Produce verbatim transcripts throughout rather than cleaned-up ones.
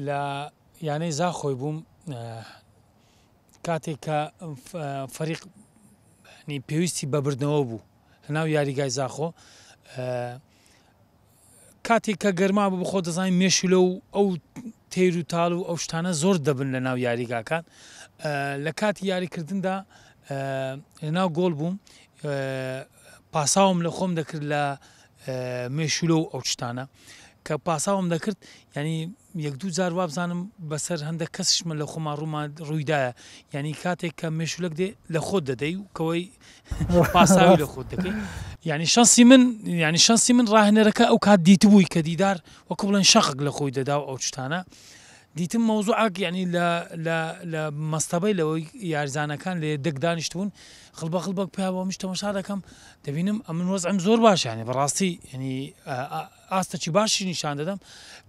لە یانەی زاخۆی بووم کاتێک کە فەریق پێویستی بە بردنەوە بوو لەناو یاریگای زاخۆ، کاتێک کە گەرما بوو بخۆ دەزانین مێشولە و ئەو تیر و تاڵ و ئەو شتانە زۆر دەبن لە ناو یاریگاکان. لە کاتی یاریکردندا لەناو گۆڵ بووم، پاساوم لە خۆم دەکرد لە مێشولە و ئەو شتانە کە پاساوم دەکرد، ینی یەک دوو جار وابزانم بەسەر هەندێک کەسیشمە لە خۆمان ڕوومان ڕوویدایە، یعنی کاتێک کە مێشولەک دێ لە خۆت دەدەی و کەوەی پاساوی لە خۆت دەکەی. یعنی شەنسی من، یعنی شەنسی من ڕاهێنەرەکە ئەو کات دیتبووی کە دیدار وەکو بڵێن شەقێک لە خۆی دەدا و ئەو شتانە دیتم مەوزوعێک، یعنی لە لە لە مەستەبەی لەوەی یاریزانەکان لێ دەک دانیشتبوون خڵبە خڵبەک پیاوە منش تەماشا دەکەم دەبینم ئەمن وەزعم زۆر باش، یعنی بەڕاستی یعنی ئاستەکی باشی نیشان دەدەم،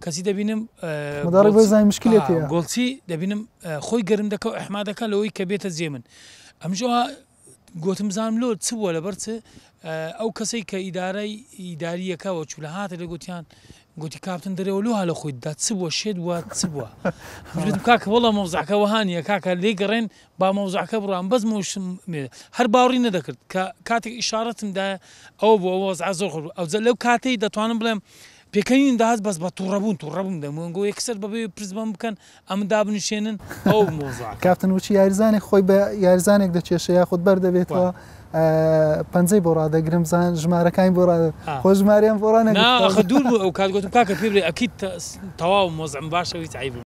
کەسی دەبینم گۆڵچی دەبینم خۆی گەرم دەکە و ئەحما دەکە لەوەی کە بێتە جێ من. ئەمجا گوتم بزانم لۆ چ بووە لەبەر چ ئەو کەسەی کە ئیدارەی ئیداریەکەوە چوو لە هاتە لێ گوتیان گوتی کاپتن دەرەوە لۆ لە خۆی دا چ بووە شێت بووە چ بووە. گوتم کاکە وەڵا مەوزعەکە وەها نییە کاکە لێ گەڕێن با مەوزعەکە بڕام، بەس مۆشم هەر باوەڕی نەدەکرد کە کاتێک ئیشارەتم دایە ئەوە بوو ئەو وەزعە زۆر خۆش بوو. ئەوجا لەو کاتەی دەتوانم بڵێم پێکەنین داهات بەس بە تووڕەبوون تووڕەبووم دەمگۆ یەکسەر بەبێ پرس بەم بکەن ئەمن دابنیشێنن ئەو مۆزعەکە. کاپتن وچی یاریزانێک خۆی بە یاریزانێک دەچێشە یاخود بەردەبێتەوە پەنجەی بۆ ڕادەگرم زان ژمارەکانی بۆ ڕادە خۆ ژمارەیان بۆ ڕانەگرت. نا ئەخە دوور بوو ئەو کات گوتم کاکە پێ بڵێ ئەکید تەواو مۆزعم باشە هیچ عەیبم.